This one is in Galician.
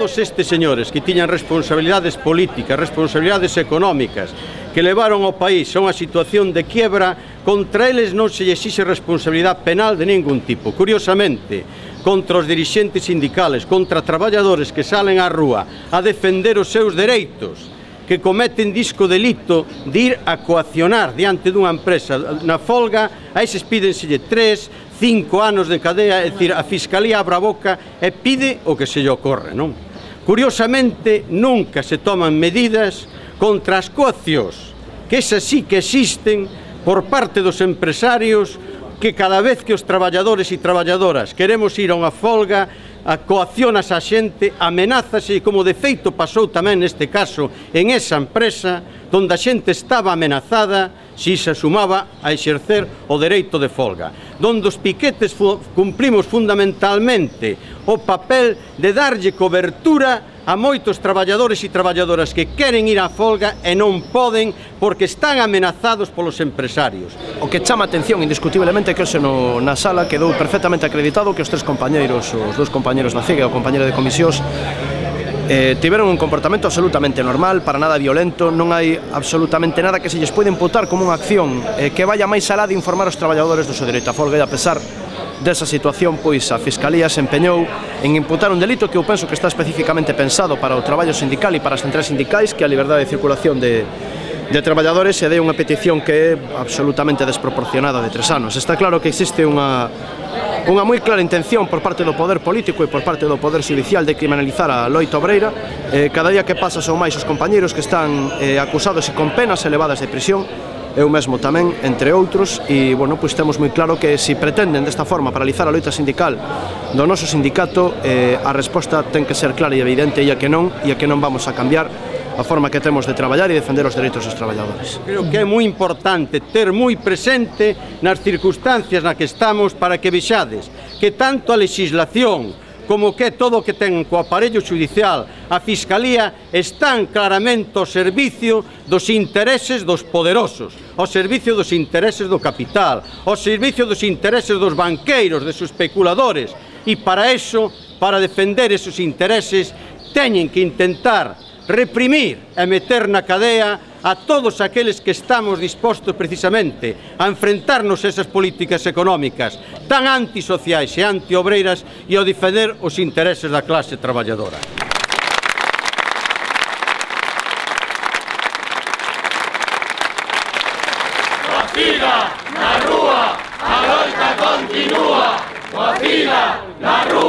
todos estes señores que tiñan responsabilidades políticas, responsabilidades económicas, que levaron ao país a unha situación de quiebra, contra eles non se lle exixe responsabilidade penal de ningún tipo. Curiosamente, contra os dirixentes sindicales, contra traballadores que salen á rúa a defender os seus dereitos, que cometen disco delito de ir a coaccionar diante dunha empresa na folga, a eses pídenselle 3, 5 anos de cadea, é dicir, a Fiscalía abre a boca e pide o que se lle ocorre, non? Curiosamente, nunca se toman medidas contra as coaccións, que esas sí que existen por parte dos empresarios, que cada vez que os traballadores e traballadoras queremos ir a unha folga, a coaccionas a xente, amenázase, como de feito pasou tamén neste caso en esa empresa, donde a xente estaba amenazada si se sumaba a exercer o dereito de folga, donde os piquetes cumplimos fundamentalmente o papel de darlle cobertura a moitos traballadores e traballadoras que queren ir á folga e non poden porque están amenazados polos empresarios. O que chama atención indiscutiblemente é que hoxe na sala quedou perfectamente acreditado que os tres compañeiros, os dous compañeiros da CIG e o compañeiro de comisións, tiveron un comportamento absolutamente normal, para nada violento, non hai absolutamente nada que se lles pode imputar como unha acción que vaya máis alá de informar os traballadores do seu dereito a folga, e a pesar desa situación, pois a Fiscalía se empeñou en imputar un delito que eu penso que está especificamente pensado para o traballo sindical e para as centrais sindicais, que é a liberdade de circulación de traballadores, e dei unha petición que é absolutamente desproporcionada de 3 anos. Está claro que existe unha moi clara intención por parte do poder político e por parte do poder judicial de criminalizar a loita obreira. Cada día que pasa son máis os compañeiros que están acusados e con penas elevadas de prisión, eu mesmo tamén, entre outros, e, bueno, pois temos moi claro que se pretenden desta forma paralizar a loita sindical do noso sindicato, a resposta ten que ser clara e evidente, e a que non vamos a cambiar a forma que temos de traballar e defender os dereitos dos traballadores. Creo que é moi importante ter moi presente nas circunstancias na que estamos para que vexades que tanto a legislación como que todo o que ten co aparello judicial, a Fiscalía, están claramente ao servicio dos intereses dos poderosos, ao servicio dos intereses do capital, ao servicio dos intereses dos banqueiros, dos especuladores, e para eso, para defender esos intereses, teñen que intentar reprimir e meter na cadea a todos aqueles que estamos dispostos precisamente a enfrentarnos a esas políticas económicas tan antisociais e antiobreiras e a defender os intereses da clase traballadora. Coa fila na rúa, a loita continúa. Coa fila na rúa.